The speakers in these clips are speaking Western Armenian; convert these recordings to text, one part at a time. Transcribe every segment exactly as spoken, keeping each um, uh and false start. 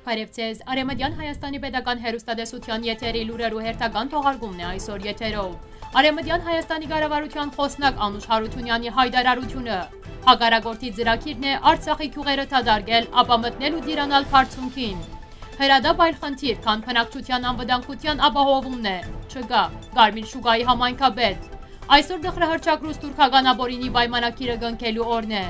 Բարեւ ձեզ։ Արեւմտեան Հայաստանի Պետական Հեռուստատեսութեան եթերի լուրերու հերթական թողարկումն է այսօր եթերով։ Արեւմտեան Հայաստանի կառավարութեան խօսնակ Անուշ Յարութիւնեանի յայտարարութիւնը։ Հակառակորդի ծրագիրն է Արցախի գիւղերը դատարկել, ապա մտնել ու տիրանալ բարձունքին։ Հրադապ այլ խնդիր, քան բնակչութեան անվտանգութեան ապահովումն է։ Չկայ Կարմիր շուկայի համայնքապետ։ Այսօր տխրահռչակ ռուս-թուրքական ապօրինի պայմանագիրը կնքելու օրն է։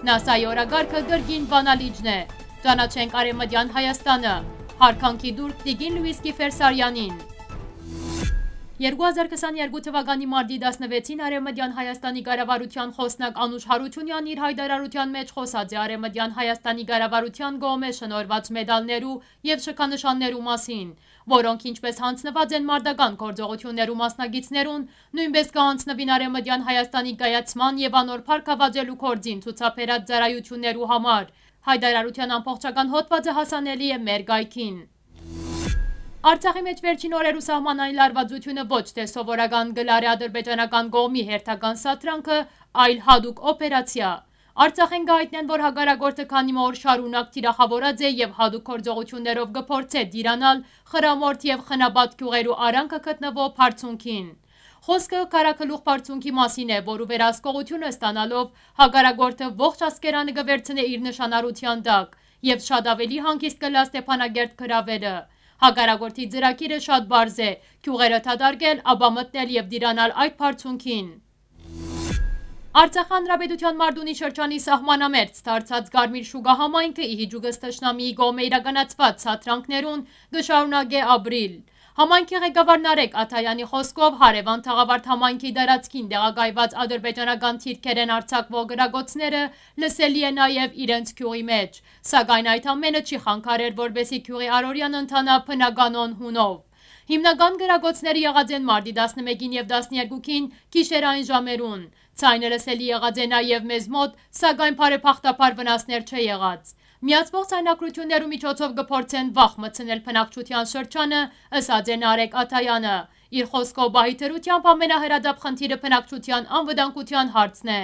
նասայի օրակարգը կրկին Վանալիճն է։ Ճանաչենք Արեւմտեան Հայաստանը։ Յարգանքի տուրք տիկին Լուիս Կիֆեր Սարյանին։ Երկու հազար քսաներկու թվականի մարտի տասնվեցին Արեւմտեան Հայաստանի կառավարութեան խօսնակ Անուշ Յարութիւնեան իր յայտարարութեան մէջ խօսած է Արեւմտեան Հայաստանի կառավարութեան կողմէ շնորհուած մեդալներու եւ շքանշաններու մասին, որոնք, ինչպէս յանձնուած են մարտական գործողութիւններու մասնակիցներուն, նոյնպէս կը յանձնուին Արեւմտեան Հայաստանի կայացման եւ անոր փառք աւազելու գործին ցուցաբերած ծառայութիւններու համար։ Յայտարարութեան ամբողջական հոդուածը հասանելի է մեր կայքին։ Արցախի մէջ վերջին օրերու սահմանային լարուածութիւնը ոչ թէ սովորական կը լարէ ադրբեջանական կողմի հերթական սադրանքը, այլ յատուկ օպերացիա։ Արցախէն կը յայտնեն, որ հակառակորդը քանի մը օր շարունակ թիրախաւորած է եւ յատուկ գործողութիւններով կը փորձէ տիրանալ Խրամորթ եւ Խնապատ գիւղերու արանքը գտնուող բարձունքին։ Խօսքը քարագլուխ բարձունքի մասին է, որու վերահսկողութիւնը ստանալով՝ հակառակորդը ողջ Ասկերանը կը վերցնէ իր նշանառութեան տակ եւ շատ աւելի հանգիստ կ'ըլլայ Ստեփանակերտ գրաւելը։ Հակառակորդի ծրագիրը շատ պարզ է՝ գիւղերը դատարկել, ապա մտնել եւ տիրանալ այդ բարձունքին։ Արցախ Հանրապետութեան Մարտունի շրջանի սահմանամերձ դարձած Կարմիր շուկա համայնքը ի հիճուկս թշնամիի կողմէ իրականացուած սադրանքներուն կը շարունակէ ապրիլ։ Համայնքի ղեկավար Նարեկ Աթաեանի խօսքով, Հարեւան Թաղավարտ համայնքի տարածքին տեղակայված ադրբեջանական թիրքերէն արձակուող կրակոցները լսելի է նաեւ իրենց գիւղի մէջ, սակայն այդ ամէնը չի խանգարեր, որպէսզի գիւղի առօրեան ընթանայ բնականոն հունով։ Հիմնական կրակոցները եղած են մարտի տասնմէկին եւ տասներկուքին գիշերային ժամերուն։ Ձայնը լսելի եղած է նաեւ մեզ մօտ, սակայն բարեբախտաբար վնասներ չէ եղած։ Միացուող ձայնագրութիւններու միջոցով կը փորձեն վախ մտցնել բնակչութեան շրջանը, ըսած է Նարեկ Աթաեանը։ Իր խօսքով, պահի դրութեամբ ամենահրադապ խնդիրը բնակչութեան անվտանգութեան հարցն է։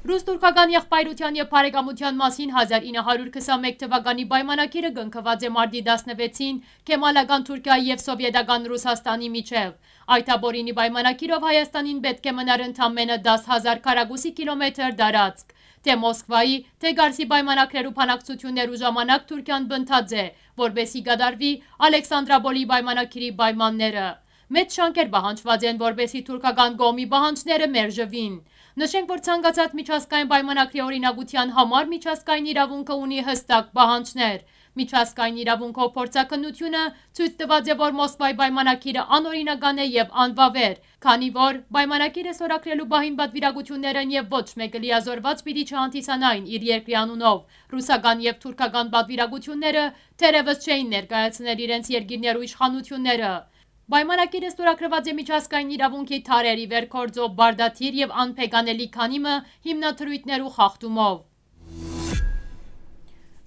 Ռուս-թուրքական եղբայրութեան եւ բարեկամութեան մասին հազար ինը հարիւր քսանմէկ թվականի պայմանագիրը կնքուած է մարտի տասնվեցին Քեմալական Թուրքիայի եւ Սովետական Ռուսաստանի միջեւ։ Այդ ապօրինի պայմանագիրով Հայաստանին պէտք է մնար ընդամենը դաս հազար քառակուսի կիլոմեթր տարածք։ Թէ Մոսկվայի, թէ Կարսի պայմանագրերու բանակցութիւններու ժամանակ Թուրքիան պնդած է, որպէսզի կատարուի Ալեքսանդրապոլի պայմանագիրի պայմանները։ Մեծ շանքեր պահանջուած են, որպէսզի թուրքական կողմի պահանջները մերժուին։ Նշենք, որ ցանկացած միջազգային պայմանագրի օրինակութեան համար միջազգային իրաւունքը ունի յստակ պահանջներ։ Միջազգային իրաւունքով փորձաքննութիւնը ցոյց տուած է, որ Մոսկվայի պայմանագիրը անօրինական է եւ անվաւեր, քանի որ պայմանագիրը ստորագրելու պահին պատվիրակութիւններէն եւ ոչ մէկը լիազորված պիտի չհանդիսանային իր երկրի անունով։ Ռուսական եւ թուրքական պատվիրակութիւնները թերեւս չէին ներկայացնել իրենց երկիրներու իշխանութիւնները։ Պայմանագիրը ստորագրուած է միջազգային իրաւունքի դարերի վեր գործող պարտադիր եւ անփեկանալի քանի մը հիմնադրոյթներու խախտումով։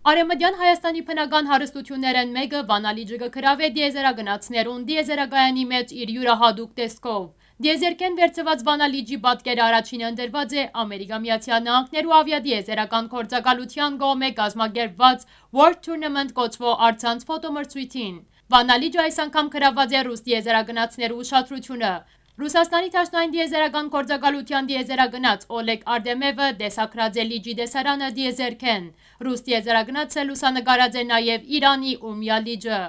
Արեւմտեան Հայաստանի բնական հարստութիւններէն մէկը Վանալիճը կը գրաւէ տիեզերագնացներուն տիեզերակայանի մէջ իր իւրահատուկ տեսքով։ Տիեզերքէն վերցուած Վանալիճի պատկերը առաջինը ընտրուած է Ամերիկա Միացյալ Նահանգներու ավիատիեզերական գործակալութեան կողմէ կազմակերպուած World Tournament կոչուող առցանց ֆոտոմրցոյթին։ Վանալիճը այս անգամ գրաւուած է ռուս տիեզերագնացներու ուշադրութիւնը։ Ռուսաստանի Դաշնային տիեզերական գործակալութեան տիեզերագնաց Օլեգ Արտեմեւը տեսագրած է Լիճի տեսարանը տիեզերքէն։ Ռուս տիեզերագնացը լուսանկարած է նաեւ Իրանի Ուրմիա լիճը։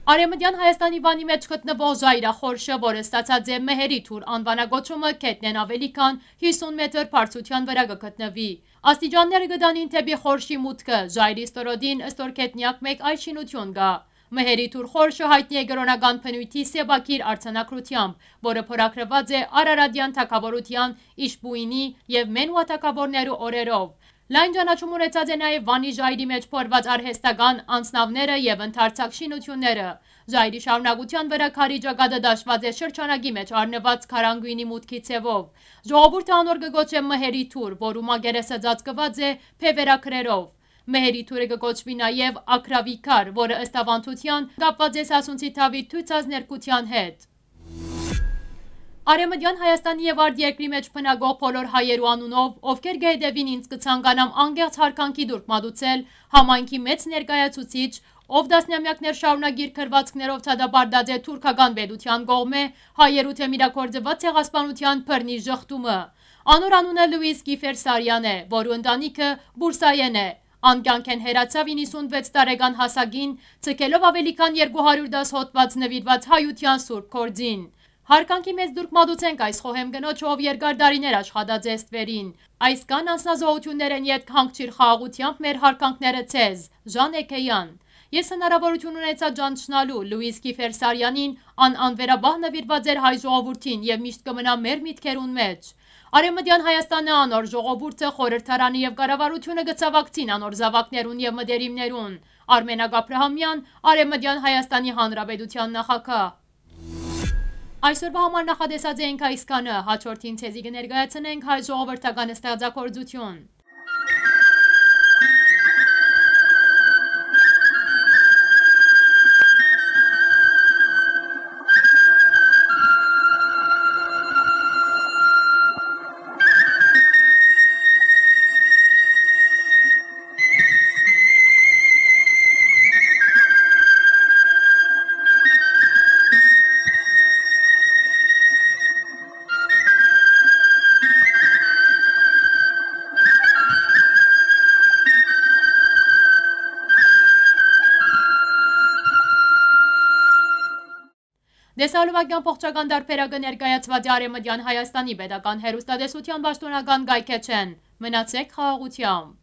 Արեւմտեան Հայաստանի Վանի մէջ գտնուող Ժայրախորշը, որը ստացած է Մեհերի թուր անուանակոչումը, գետնէն աւելի քան հիսուն մեթր բարձրութեան վրայ կը գտնուի։ Աստիճանները կը տանին դէպի խորշի մուտքը, ժայռի ստորոտին ստորգետնեակ մէկ այլ շինութիւն կայ։ Մհերի թուր խորշը յայտնի է կրօնական բնոյթի սեփակիր արձանագրութեամբ, որը փորագրուած է Արարատեան թագաւորութեան Իշպուինի եւ Մենուա թագաւորներու օրերով։ Լայն ճանաչում ունեցած է նաեւ Վանի ժայռի մէջ փորված արհեստական անձնաւները եւ ընդարձակ շինութիւնները։ Ժայռի շարունակութեան վրայ քարի ճակատը դաշուած է շրջանակի մէջ առնուած քարանգոյնի մուտքի ձեւով։ Ժողովուրդը անոր կը կոչէ Մհերի թուր, որու մակերեսը ծածկուած է բեւեռագրերով։ Մհերի թուրը կը կոչուի նաեւ Աքրավի քար, որը, ըստ աւանդութեան, կապուած է Սասունցի թաւի դիւցազներգութեան հետ։ Արեւմտեան Հայաստանի եւ արտերկրի մէջ բնակող բոլոր հայերու անունով, ովքեր կը հետեւին ինձ, կը ցանկանամ անկեղծ յարգանքի տուրք մատուցել համայնքի մեծ ներկայացուցիչ, ով տասնամեակներ շարունակ իր գրուածքներով դատապարտած է թուրքական պետութեան կողմէ հայերու դէմ իրագործուած ցեղասպանութեան բռնի ժխտումը։ Անոր անունը Լուիս Կիֆեր Սարեան է, որու ընտանիքը Պուրսայէն է։ Ան կեանքէն հեռացաւ իննսունվեց տարեկան հասակին, ձգելով աւելի քան երկու հարիւր տասը հոդուած նուիրուած հայութեան սուրբ գործին։ Յարգանքի մեծ տուրք մատուցենք այս խոհեմ կնոջը, ով երկար տարիներ աշխատած է ստուերին։ Այսքան անձնազոհութիւններէն ետք հանգչիր խաղաղութեամբ մեր յարգանքները ձեզ, Ժան Էգեան։ Ես հնարաւորութիւն ունեցայ ճանչնալու Լուիս Կիֆեր Սարեանին, ան անվերապահ նուիրուած էր հայ ժողովուրդին եւ միշտ կը մնայ մեր միտքերուն մէջ։ Արեւմտեան Հայաստանը, անոր ժողովուրդը, խորհրդարանը եւ կառավարութիւնը կը ցաւակցին անոր զաւակներուն եւ մտերիմներուն։ Արմենակ Աբրահամեան, Արեւմտեան Հայաստանի Հանրապետութեան նախագահ։ Այսօրվա համար նախատեսած էինք այսքանը, հաջորդին ձեզի կը ներկայացնենք հայ ժողովրդական ստեղծագործութիւն։ Տեսալովակեան ողջական տարբերակը ներկայացուած է Արեւմտեան Հայաստանի պետական հեռուստատեսութեան պաշտօնական կայքէջէն։ Մնացեք խաղաղութեամբ։